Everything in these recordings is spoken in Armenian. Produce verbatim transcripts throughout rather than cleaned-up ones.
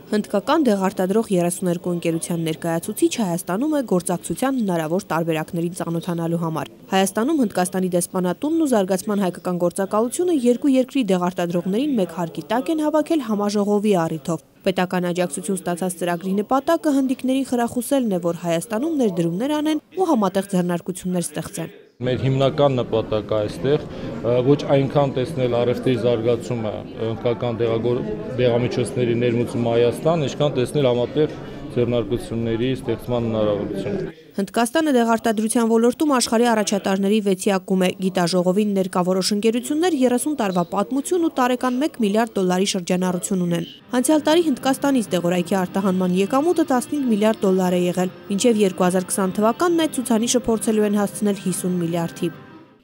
Հնդկական դեղարտադրող երեսուներկու ընկերության ներկայացուցիչ Հայաստանում է գործակցության հնարավոր տարբերակներին ծանոթանալու համար։ Հայաստանում Հնդկաստանի դեսպանատունն ու զարգացման հայկական գործակալությունը երկու երկրի դեղարտադրողներին մեկ հարկի տակ են հավաքել համաժողովի առիթով։ Պետական աջակցություն ստացած ծրագրի նպատակը հնդիկներին խրախուսելն է, որ Հայաստանում ներդրումներ անեն ու համատեղ ձեռնարկություններ ստեղծեն։ Մեր հիմնական նպատակը այստեղ ոչ այնքան տեսնել առևտրի զարգացումը, հնդկական դեղամիջոցների ներմուծումը Հայաստան, ինչքան տեսնել համատեղ ձեռնարկությունների ստեղծման հնարավորությունը։ Հնդկաստանը դեղարտադրության ոլորտում աշխարհի առաջատարների վեցյակում է։ Գիտաժողովին ներկա որոշ ընկերություններ երեսուն տարվա պատմություն ու տարեկան մեկ միլիարդ դոլարի շրջանառություն ունեն։ Անցյալ տարի Հնդկաստանից դեղորայքի արտահանման եկամուտը տասնհինգ միլիարդ դոլար է եղել, մինչև երկու հազար քսան թվականն այդ ցուցանիշը փորձելու են հասցնել հիսուն միլիարդի։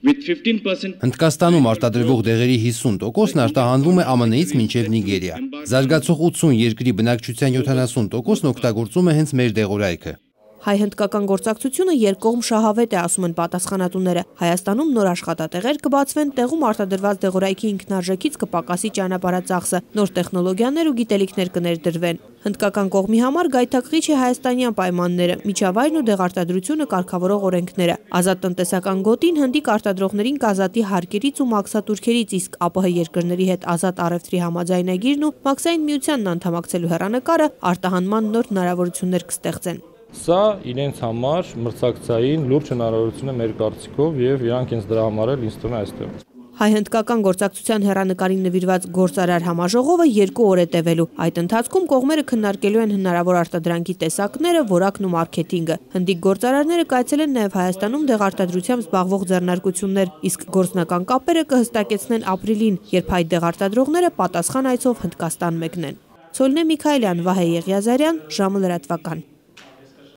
Հնդկաստանում արտադրվող դեղերի հիսուն տոկոսն արտահանվում է ԱՄՆ -ից մինչև Նիգերիա։ Զարգացող ութսուն երկրի բնակչության յոթանասուն տոկոսն օգտագործում է հենց մեր դեղորայքը։ Հայ-հնդկական գործակցությունը երկկողմ շահավետ է, ասում են պատասխանատուները։ Հայաստանում նոր աշխատատեղեր կբացվեն, տեղում արտադրված դեղորայքի ինքնարժեքից կպակասի ճանապարհածախսը, նոր տեխնոլոգիաներ ու գիտելիքներ կներդրվեն։ Հնդկական կողմի համար գայթակղիչ է հայաստանյան պայմանները, միջավայրն ու դեղարտադրությունը կարգավորող օրենքները։ Ազատ տնտեսական գոտին հնդիկ արտադրողներին կազատի հարկերից ու մաքսատուրքերից, իսկ ԱՊՀ երկրների հետ ազատ առևտրի համաձայնագիրն ու Մաքսային միությանն անդամակցելու հեռանկարը արտահանման նոր հնարավորություններ կստեղծեն։ Սա իրենց համար մրցակցային լուրջ հնարավորություն է մեր կարծիքով եւ իրանք ինձ դրա համար էլ ինձ թվում է այստեղ։ Հայ-հնդկական գործակցության հեռանկարին նվիրված գործարար համաժողովը երկու օր է տևելու։ Այդ ընթացքում կողմերը քննարկելու են հնարավոր արտադրանքի տեսակները, որակն ու մարքեթինգը։ Հնդիկ գործարարները կայացել են նաև Հայաստանում դեղարտադրությամբ զբաղվող ձեռնարկություններ, իսկ գործնական կապերը կհստակեցնեն ապրիլին, երբ հայ դեղարտադրողները պատասխան այցով Հնդկաստան մեկնեն։ Ցոլնե Միքայելյան, Վահե Եղիազարյան, ժամը լրատվական։